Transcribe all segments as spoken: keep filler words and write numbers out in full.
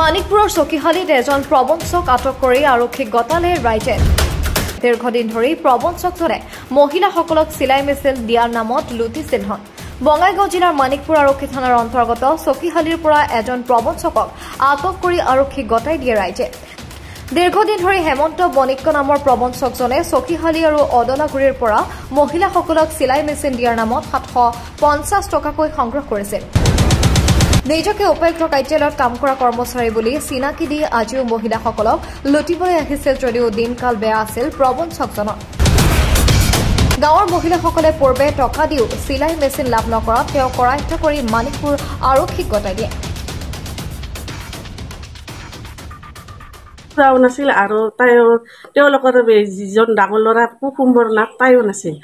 মানিকপুৰৰ চকীহালিত এজন প্ৰবঞ্চক আটক কৰি আৰক্ষীক গতালে ৰাইজে। দীৰ্ঘদিন ধৰি প্ৰবঞ্চকজনে মহিলাসকলক চিলাই মেচিন দিয়াৰ নামত লুটিছিল ধন। বঙাইগাঁও জিলাৰ মানিকপুৰ আৰক্ষী থানাৰ অন্তৰ্গত চকীহালিৰ পৰা এজন প্ৰবঞ্চকক আটক কৰি আৰক্ষীক গতাই দিয়ে ৰাইজে। দীৰ্ঘদিন ধৰি হেমন্ত বণিক্য নামৰ প্ৰবঞ্চকজনে চকীহালি আৰু অদলাগুৰিৰ পৰা মহিলাসকলক চিলাই মেচিন দিয়াৰ নামত সাতশ পঞ্চাছ টকাকৈ সংগ্ৰহ কৰিছিল। নিজকে উপায়ুক্ত কাৰ্যালয়ত কাম কৰা কৰ্মচাৰী বুলি চিনাকি দি আজিও মহিলাসকলক লুটিবলৈ আহিছিল যদিও দিনকাল বেয়া আছিল প্ৰবঞ্চকজনৰ। গাঁৱৰ মহিলাসকলে পূৰ্বে টকা দিও চিলাই মেচিন লাভ নকৰাত তেওঁ কৰায়ত্ব কৰি মানিকপুৰ আৰক্ষীক গতাই দিয়ে। খুৰাও নাছিল আৰু তাই তেওঁলোকৰ যিজন ডাঙৰ ল'ৰা কুসুম্বৰ নাথ তাইও নাছিল।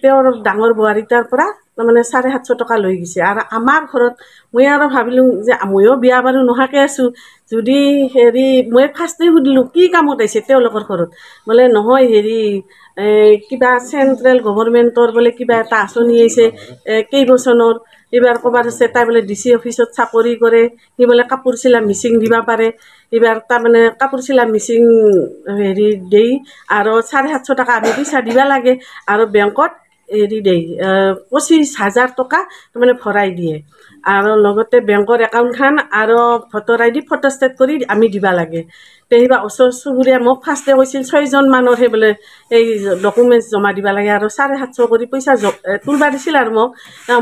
তেওঁৰ ডাঙৰ বোৱাৰী তাৰ পৰা তাৰমানে চাৰে সাতশ টকা লৈ গৈছে। আৰু আমাৰ ঘৰত মই আৰু ভাবিলোঁ যে ময়ো বিয়া বাৰু নোহোৱাকৈ আছোঁ, যদি হেৰি মই ফাৰ্ষ্টে সুধিলোঁ কি কামত আহিছে তেওঁলোকৰ ঘৰত, বোলে নহয় হেৰি কিবা চেণ্ট্ৰেল গভৰ্ণমেণ্টৰ বোলে কিবা এটা আঁচনি আহিছে কেইবছৰৰ, এইবাৰ ক'ৰবাত আছে, তাই বোলে ডি চি অফিচত চাকৰি কৰে, সি বোলে কাপোৰ চিলা মিচিং দিব পাৰে, এইবাৰ তাৰমানে কাপোৰ চিলা মিচিং হেৰি দেই আৰু চাৰে সাতশ টকা আমি পইচা দিব লাগে আৰু বেংকত হেৰি দেই পঁচিছ হাজাৰ টকা তাৰমানে ভৰাই দিয়ে আৰু লগতে বেংকৰ একাউণ্টখন আৰু ভোটাৰ আই ডি ফটোষ্টেট কৰি আমি দিব লাগে। তে কিবা ওচৰ চুবুৰীয়া মোক ফাৰ্ষ্টে কৈছিল ছয়জন মানুহৰহে বোলে এই ডকুমেণ্টছ জমা দিব লাগে আৰু চাৰে সাতশ কৰি পইচা তুলিব দিছিল আৰু মোক।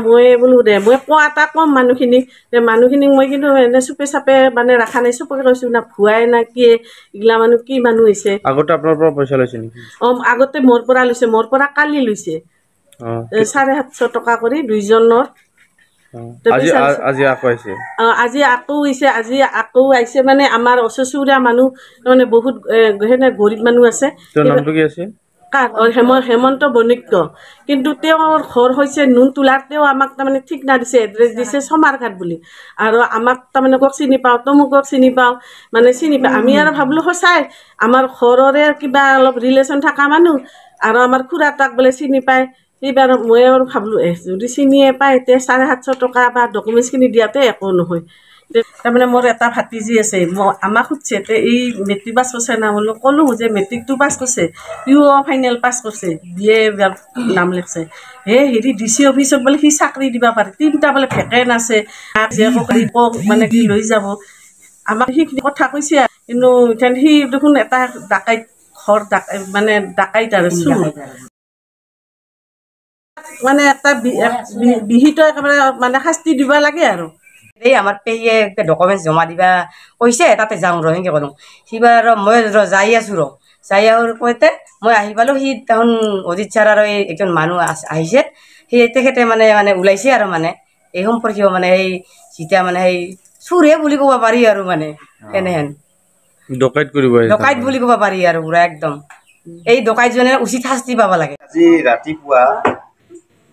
মই বোলো দে মই কোৱা এটা কম মানুহখিনিক, মানুহখিনিক মই কিন্তু এনে চুপে চাপে মানে ৰখা নাই, চুপকে কৈছোঁ না ভুৱাই না কি এইগিলা মানুহ কি মানুহ হৈছে। আগতে আপোনাৰ পৰা পইচা লৈছে নেকি? অঁ, আগতে মোৰ পৰা লৈছে, মোৰ পৰা কালি লৈছে চাৰে সাতশ টকা কৰি দুইজনৰ। আজি আকৌ আহিছে, আজি আকৌ আহিছে, আজি আকৌ আহিছে মানে আমাৰ ওচৰ চুবুৰীয়া মানুহ মানে বহুত সেনে গৰীব মানুহ আছে। নামটো কি আছিল? কাৰ? হেমন্ত বণিক্য। কিন্তু তেওঁৰ ঘৰ হৈছে নুনতোলাত। তেওঁ আমাক তাৰমানে ঠিকনা দিছে, এড্ৰেছ দিছে চমাৰঘাট বুলি। আৰু আমাক তাৰমানে কক চিনি পাওঁ, তমুকক চিনি পাওঁ, মানে চিনি পাওঁ। আমি আৰু ভাবিলোঁ সঁচাই আমাৰ ঘৰৰে কিবা অলপ ৰিলেশ্যন থকা মানুহ আৰু আমাৰ খুৰা তাক বোলে চিনি পায়। এইবাৰ মই আৰু ভাবিলোঁ এ যদি চিনিয়ে পায় এতিয়া চাৰে সাতশ টকা বা ডকুমেণ্টছখিনি দিয়াতে একো নহয়। তাৰমানে মোৰ এটা ভাতিজী আছে, আমাক সুধিছে তে এই মেট্ৰিক পাছ কৰিছে না, বোলো ক'লোঁ যে মেট্ৰিকটো পাছ কৰিছে, ইউ ফাইনেল পাছ কৰিছে, বি এ নাম লিখছে। হে হেৰি ডি চি অফিচত বোলে সি চাকৰি দিব পাৰে, তিনিটা বোলে ভেকেণ্ট আছে, জীয়েকক মানে কি লৈ যাব। আমাক সেইখিনি কথা কৈছে, কিন্তু সি দেখোন এটা ডাকাইত ঘৰ ডাকাই মানে ডাকাইত আৰু চুৰ মানে এটা বিহিত একেবাৰে মানে শাস্তি দিব লাগে। আৰু এই আমাৰ পেহীয়ে ডকুমেণ্টছ জমা দিবা কৈছে, তাতে যাওঁ ৰ সেনেকৈ ক'লোঁ। সিবাৰ আৰু মই ৰ যাই আছোঁ ৰ যাই আৰু কওঁতে মই আহি পালোঁ। সি তাহোন অজিত ছাৰ আৰু এই একজন মানুহ আহিছে, সেই তেখেতে মানে মানে ওলাইছে আৰু মানে এই সম্পৰ্কীয় মানে সেই যেতিয়া মানে সেই চুৰহে বুলি ক'ব পাৰি আৰু মানে এনেহেন ডকাইত কৰিব ডকাইত বুলি ক'ব পাৰি আৰু পুৰা একদম এই ডকাইতজনে উচিত শাস্তি পাব লাগে। আজি ৰাতিপুৱা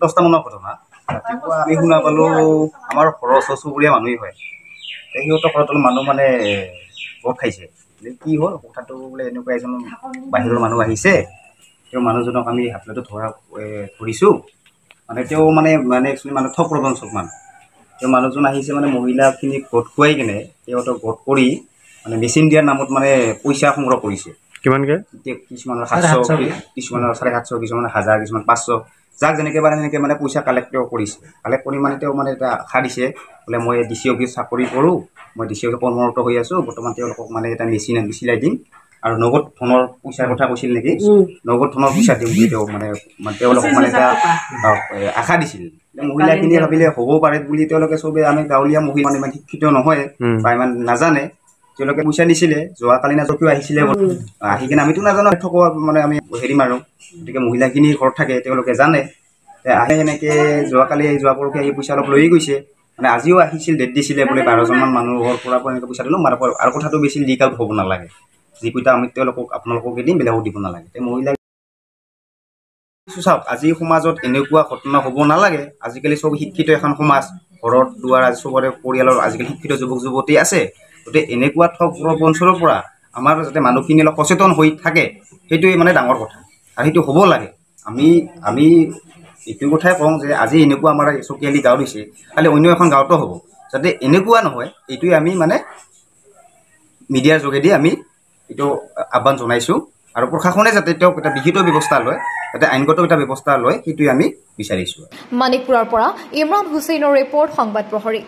দহটামানৰ ঘটনা। ৰাতিপুৱা আমি শুনা পালোঁ আমাৰ ঘৰৰ ওচৰ চুবুৰীয়া মানুহেই হয়, সিহঁতৰ ঘৰত অলপ মানুহ মানে গোট খাইছে। কি হ'ল কথাটো বোলে এনেকুৱা এজন বাহিৰৰ মানুহ আহিছে, তেওঁ মানুহজনক আমি হাতলটো ধৰা ধৰিছোঁ। মানে তেওঁ মানে মানে একচুৱেলি মানুহ ঠগ প্ৰবঞ্চক মানুহ। তেওঁ মানুহজন আহিছে মানে মহিলাখিনিক গোট খুৱাই কেনে সিহঁতক গোট কৰি মানে মেচিন দিয়াৰ নামত মানে পইচা সংগ্ৰহ কৰিছে। কিমানকৈ? কিছুমানৰ সাতশ, কিছুমানৰ চাৰে সাতশ, কিছুমানৰ হাজাৰ, কিছুমান পাঁচশ, যাক যেনেকৈ পাৰে সেনেকৈ মানে পইচা কালেক্ট তেওঁ কৰিছে। কালেক্ট কৰি মানে তেওঁ মানে এটা আশা দিছে বোলে মই ডি চি অফিচ চাকৰি কৰোঁ, মই ডি চি অফিচ কৰ্মৰত হৈ আছোঁ, বৰ্তমান তেওঁলোকক মানে এটা মেচিন চিলাই দিম আৰু নগদ ধনৰ পইচাৰ কথা কৈছিল নেকি, নগদ ধনৰ পইচা দিম বুলি তেওঁ মানে তেওঁলোকক মানে এটা আশা দিছিল। মহিলাখিনিয়ে ভাবিলে হ'ব পাৰে বুলি তেওঁলোকে চবেই, আমি গাঁৱলীয়া মহিলা মানে ইমান শিক্ষিত নহয় বা ইমান নাজানে, তেওঁলোকে পইচা দিছিলে। যোৱাকালি না কিয় আহিছিলে, আহি কিনে আমিতো নাজানো থকা মানে আমি হেৰি মাৰোঁ, গতিকে মহিলাখিনি ঘৰত থাকে তেওঁলোকে জানে। আহে সেনেকৈ যোৱাকালি যোৱা পৰহি আহি পইচা অলপ লৈয়ে গৈছে। মানে আজিও আহিছিল, ডেট দিছিলে বোলে বাৰজনমান মানুহৰ পৰা এনেকৈ পইচা দিলোঁ। মানে আৰু কথাটো বেছি লিক আউট হ'ব নালাগে, যিকেইটা আমি তেওঁলোকক আপোনালোককে দিম, বেলেগক দিব নালাগে। তে মহিলা চাওক, আজি সমাজত এনেকুৱা ঘটনা হ'ব নালাগে। আজিকালি চব শিক্ষিত এখন সমাজ, ঘৰত দুৱাৰ আজি চবৰে পৰিয়ালৰ আজিকালি শিক্ষিত যুৱক যুৱতী আছে। গতিকে এনেকুৱা ঠগ প্ৰবঞ্চনৰ পৰা আমাৰ যাতে মানুহখিনি অলপ সচেতন হৈ থাকে, সেইটোৱে মানে ডাঙৰ কথা আৰু সেইটো হ'ব লাগে। আমি আমি এইটো কথাই কওঁ যে আজি এনেকুৱা আমাৰ চকীয়ালি গাঁৱত হৈছে, খালি অন্য এখন গাঁৱতো হ'ব, যাতে এনেকুৱা নহয়, এইটোৱে আমি মানে মিডিয়াৰ যোগেদি আমি এইটো আহ্বান জনাইছোঁ আৰু প্ৰশাসনে যাতে তেওঁক এটা বিহিত ব্যৱস্থা লয়, যাতে আইনগত এটা ব্যৱস্থা লয়, সেইটোৱে আমি বিচাৰিছোঁ। মানিকপুৰৰ পৰা ইমৰান হুছেইনৰ ৰিপৰ্ট, সংবাদ প্ৰহৰী।